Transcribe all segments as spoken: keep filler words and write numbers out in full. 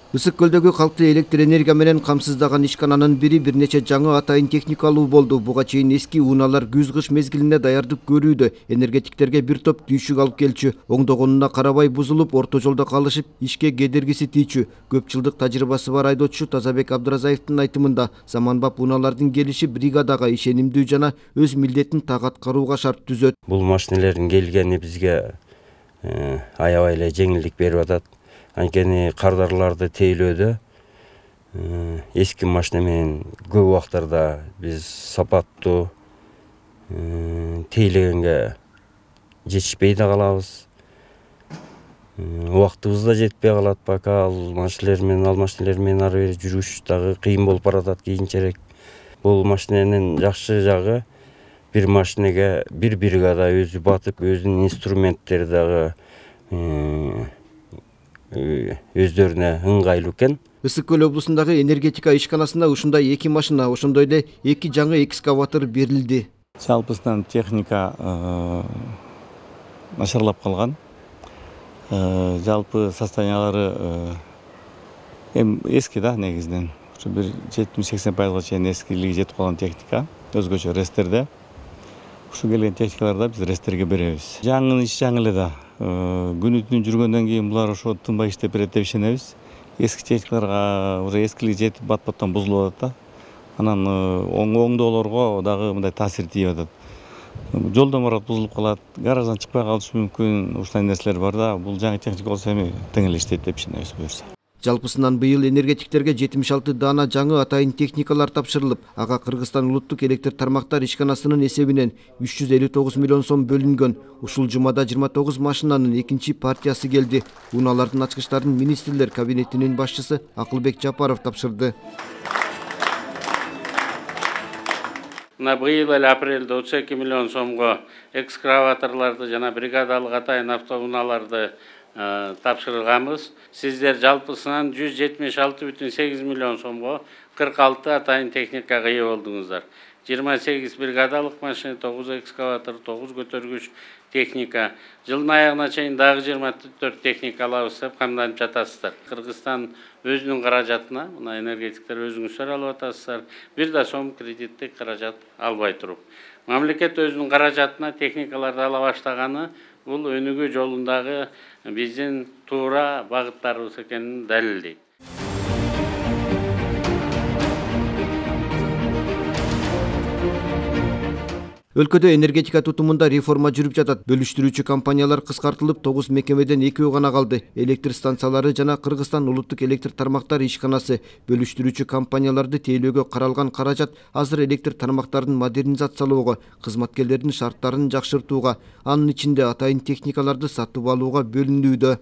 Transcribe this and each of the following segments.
Ысык көлдөгү калкты электр энергия менен камсыздаган ишкананын бири бир нече жаңы атайын техникалуу болду. Буга чейин эски унаалар күз-кыш мезгилинде даярдык көрүүдө. Энергетиктерге бир топ түйшүк алып келчү. Оңдогонуна карабай бузулуп, орто жолдо калышып, ишке кедергиси тийчү. Көп жылдык тажрыйбасы бар айдоочу Тазабек Абдыразаевдин айтымында, заманбап унаалардын келиши бригадага ишенимдүү жана өз милдетин так аткарууга шарт түзөт. Бул машинелердин келгени бизге аябай эле жеңилдик берип атат. Анткени кардарларды тейлөөдө эски машина менен көп убактарда биз сапаттуу тейлегенге жетишпей да калабыз. Убактыбыз да жетпей калат, пока ал машинелер менен ал машинелер менен ары бери жүрүш дагы кыйын болуп баратат кийинчерээк. Бул машиненин жакшы жагы бир машинеге бир бригада өзү батып, өзүнүн инструменттери дагы өздөрүнө ыңгайлуу экен. Ысык көл облусундагы энергетика ишканасына ушундай эки машина, ошондой эле эки жаңы экскаватор берилди. Жалпысынан техника начарлап калган. Жалпы состояниялары эми эски да негизинен. Ушу бир жетимиш-сексен пайызга чейин эскилиги жетип калган техника. Өзгөчө рестерде. Ушу келген техникаларды биз рестерге беребиз. Жаңы иш жаңы эле да. Күнү түнү жүргөндөн кийин булар ошо тынбай иштеп берет деп ишенебиз. Эски техникаларга уже эскилиги жетип бат-баттан бузулуп атат да. Анан оңдоолорго дагы мындай таасир тийип атат. Жолдон барат бузулуп калат, гараждан чыкпай калышы мүмкүн, ушундай нерселер бар да. Бул жаңы техника болсо эми тең эле иштейт деп ишенебиз буюрса. Жалпысынан быйыл энергетиктерге жетимиш алты даана жаңы атайын техникалар тапшырылып, ага Кыргызстан улуттук электр тармактар ишканасынын эсебинен үч жүз элүү тогуз миллион сом бөлүнгөн. Ушул жумада жыйырма тогуз машинанын экинчи партиясы келди. Унаалардын ачкычтарын министрлер кабинетинин башчысы Акылбек Жапаров тапшырды. Мына быйыл эле апрелде отуз эки миллион сомго экскаваторлорду жана бригадалык атайын автоунааларды тапшырганбыз. Сиздер жалпысынан жүз жетимиш алты бүтүн сегиз миллион сомго кырк алты атайын техникага ээ болдуңуздар. жыйырма сегиз бригадалык машина, тогуз экскаватор, тогуз көтөргүч техника. Жылдын аягына чейин дагы жыйырма төрт техника алабыз деп камданып жатасыздар. Кыргызстан өзүнүн каражатына, мына энергетиктер өзүңүздөр алып атасыздар. Бир да сом кредиттик каражат албай туруп. Мамлекет өзүнүн каражатына техникаларды ала баштаганы бул өнүгүү жолундагы биздин туура багыттарыбыз экенин далилдейт. Өлкөдө энергетика тутумунда реформа жүрүп жатат. Бөлүштүрүүчү компаниялар кыскартылып, тогуз мекемеден экөө гана калды. Электр станциялары жана Кыргызстан улуттук электр тармактар ишканасы бөлүштүрүүчү компанияларды тейлөөгө каралган каражат азыр электр тармактарын модернизациялоого, кызматкерлердин шарттарын жакшыртууга, анын ичинде атайын техникаларды сатып алууга бөлүнүүдө.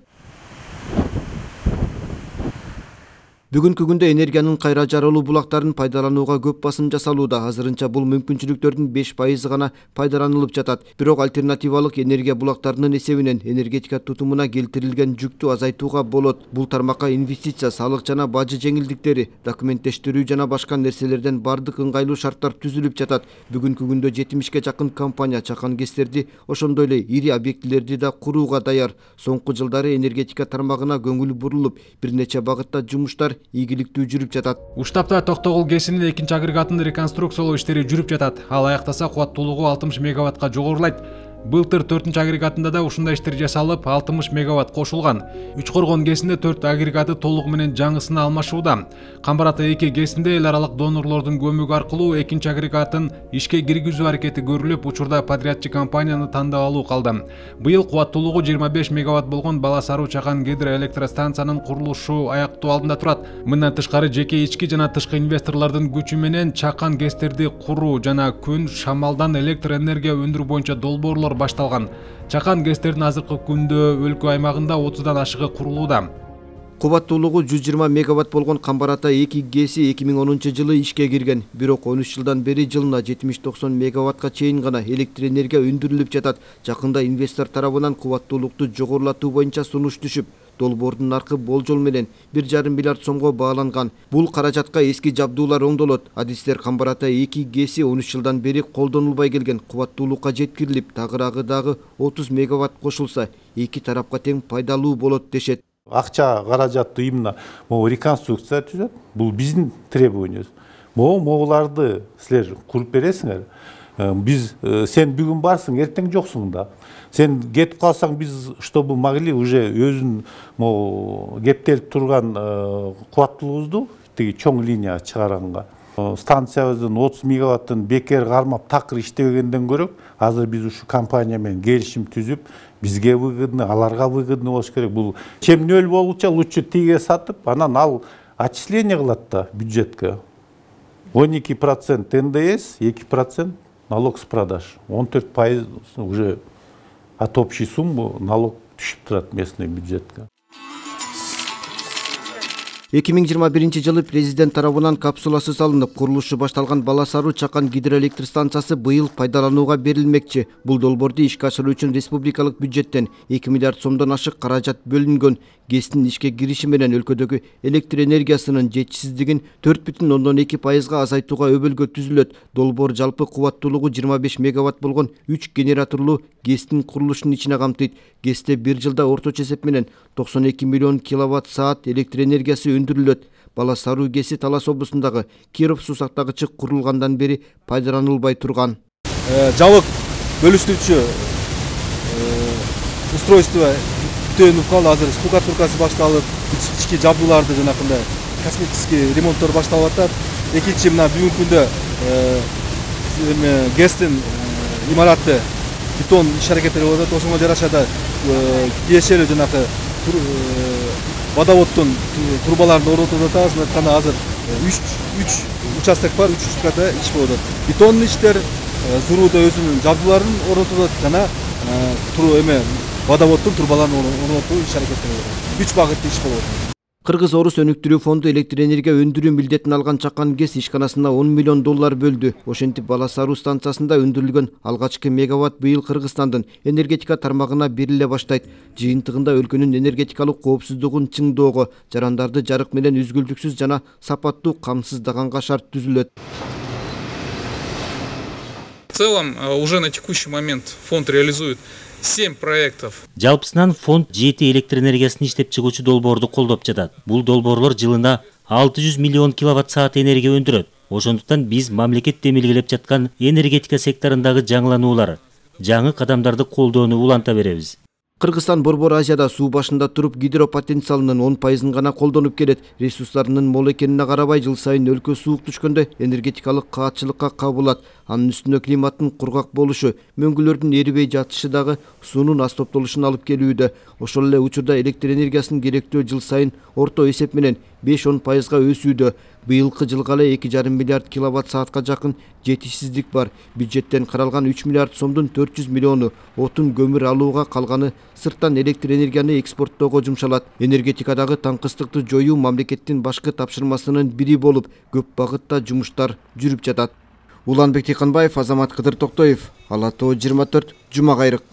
Бүгүнкү күндө энергиянын кайра жарылуу булактарын пайдаланууга көп басым жасалууда. Азырынча бул мүмкүнчүлүктөрдүн беш пайызы гана пайдаланылып жатат. Бирок альтернативалык энергия булактарынын эсебинен энергетика тутумуна келтирилген жүктү азайтууга болот. Бул тармакка инвестиция, салык жана бажы жеңилдиктери, документтештирүү жана башка нерселерден бардык ыңгайлуу шарттар түзүлүп жатат. Бүгүнкү күндө жетимишке жакын компания чакан ГЭСтерди, ошондой эле ири объектилерди да курууга даяр. Соңку жылдары энергетика тармагына көңүл бурулуп, бир нече багытта жумуштар ийгиликтүү жүрүп жатат. Уштапта Токтогул ГЭСинин экинчи агрегатын реконструкциялоо иштери жүрүп жатат. Ал аяктаса кубаттуулугу алтымыш мегаваттка жогорулайт. Былтыр төртүнчү агрегатында да ушундай иштер жасалып, алтымыш мегаватт кошулган. Үчкоргон ГЭСинде төрт агрегаты толугу менен жаңысына алмашууда. Камбар Ата эки ГЭСинде эл аралык донорлордун көмөгү аркылуу экинчи агрегатын ишке киргизүү аракети көрүлүп, учурда подрядчы компанияны тандап алуу калды. Быйыл кубаттуулугу жыйырма беш мегаватт болгон Бала Саруу Чакан гидроэлектростанциянын курулушу аяктоо алдында турат. Мындан тышкары жеке ички жана тышкы инвесторлордун күчү менен Чакан ГЭСтерди куруу жана күн, шамалдан электр энергия өндүрүү боюнча долбоорлор башталган. Чакан ГЭСтердин азыркы күндө өлкө аймагында отуздан ашыгы курулууда. Кубаттуулугу жүз жыйырма мегаватт болгон Камбар Ата эки ГЭСи эки миң онунчу жылы ишке кирген. Бирок он үч жылдан бери жылына жетимиш токсон мегаваттка чейин гана электр энергия өндүрүлүп жатат. Жакында инвестор тарабынан кубаттуулукту жогорулатуу боюнча сунуш түшүп, долбоордун наркы болжол менен бир жарым миллиард сомго бааланган. Бул каражатка эски жабдуулар оңдолот. Адистер Камбар Ата эки ГЭСи он үч жылдан бери колдонулбай келген. Кубаттуулукка жеткирилип, тагыраагы дагы отуз мегаватт кошулса, эки тарапка тең пайдалуу болот дешет. Акча каражатты именно могу реконструкция түзөт. Бул биздин требованиябыз. Могу могуларды силер куруп бересиңер. Биз сен бүгүн барсың, эртең жоксуң да. Сен кетип калсаң, биз чтобы могли уже өзүн могу кептелип турган кубаттуулугубузду тиги чоң линия чыгаранга. Станциябыздын отуз мегаваттын бекер кармап такыр иштебегенден көрө, азыр биз ушу компания менен келишим түзүп, бизге выгодно, аларга выгодно болуш керек. Бул чем нөл болучу лучше тиге сатып, анан ал отчисление кылат да бюджетке. он эки процент эн дэ эс, эки процент налог с продаж. он төрт пайыз уже от общей суммы налог түшүп турат местный бюджетке. эки миң жыйырма биринчи жылы президент тарабынан капсуласы салынып, курулушу башталган Бала Саруу Чакан гидроэлектр станциясы быйыл пайдаланууга берилмекчи. Бул долбоорду ишке ашыруу үчүн республикалык бюджеттен эки миллиард сомдон ашык каражат бөлүнгөн. ГЭСтин ишке кириши менен өлкөдөгү электр энергиясынын жетишсиздигин төрт бүтүн ондон эки пайызга азайтууга өбөлгө түзүлөт. Долбоор жалпы кубаттуулугу жыйырма беш мегаватт болгон үч генераторлуу ГЭСтин курулушун ичине камтыйт. ГЭСте бир жылда орточо эсеп менен токсон эки миллион киловатт саат электр энергиясы өндүрүлөт. Бала Саруу ГЭСи Талас облусундагы Киров суу сактагычы курулгандан бери пайдаланылбай турган. Жабык бөлүштүрүүчү устройство түтөнүп калды. Азыр штукатуркасы башталып, ички жабдууларды жанакындай косметический ремонттор башталып атат. Экинчи мына бүгүнкү күндө ГЭСтин имараты бетон иш аракеттери болуп атат. Ошого жараша да тиешелүү жанакы водоводдун трубаларын орнотуп атабыз. Мына айтканда азыр үч участок бар, үч участкада иш болуп атат. Бетондун иштер, Зурууда өзүнүн жабдууларын орнотуп атат жана эме водоводдун трубаларын орнотуу иш аракеттери болуп атат. Үч багыттуу иш болуп атат. Кыргыз Орус өнүктүрүү фонду электр энергия өндүрүү милдетин алган Чакан ГЭС ишканасына он миллион доллар бөлдү. Ошентип Бала Саруу станциясында өндүрүлгөн алгачкы мегаватт быйыл Кыргызстандын энергетика тармагына бериле баштайт. Жыйынтыгында өлкөнүн энергетикалык коопсуздугун чыңдоого, жарандарды жарык менен үзгүлтүксүз жана сапаттуу камсыздаганга шарт түзүлөт. В целом, уже на текущий момент фонд реализует семь проектов. Жалпысынан фонд жети электр энергиясын иштеп чыгуучу долбоорду колдоп жатат. Бул долбоорлор жылына алты жүз миллион киловатт саат энергия өндүрөт. Ошондуктан биз мамлекет демилгелеп жаткан энергетика секторундагы жаңылануулар, жаңы кадамдарды колдоону уланта беребиз. Кыргызстан Борбор Азияда суу башында туруп гидропотенциалынын он пайызын гана колдонуп келет. Ресурстарынын мол экенине карабай жыл сайын өлкө суук түшкөндө энергетикалык каатчылыкка кабылат. Анын үстүнө климаттын кургак болушу, мөңгүлөрдүн эрибей жатышы дагы суунун аз топтолушуна алып келүүдө. Ошол эле учурда электр энергиясынын керектөө жыл сайын орто эсеп менен беш он пайызга өсүүдө. Быйылкы жылга эле эки жарым миллиард киловатт саатка жакын жетишсиздик бар. Бюджеттен каралган үч миллиард сомдун төрт жүз миллиону отун көмүр алууга, калганы сырттан электр энергияны экспорттоого жумшалат. Энергетикадагы таңкыстыкты жоюу мамлекеттин башкы тапшырмасынын бири болуп, көп багытта жумуштар жүрүп жатат. Уланбек Тыйканбаев, Азамат Кыдыр Токтоев, Ала Тоо жыйырма төрт, Жума кайрык.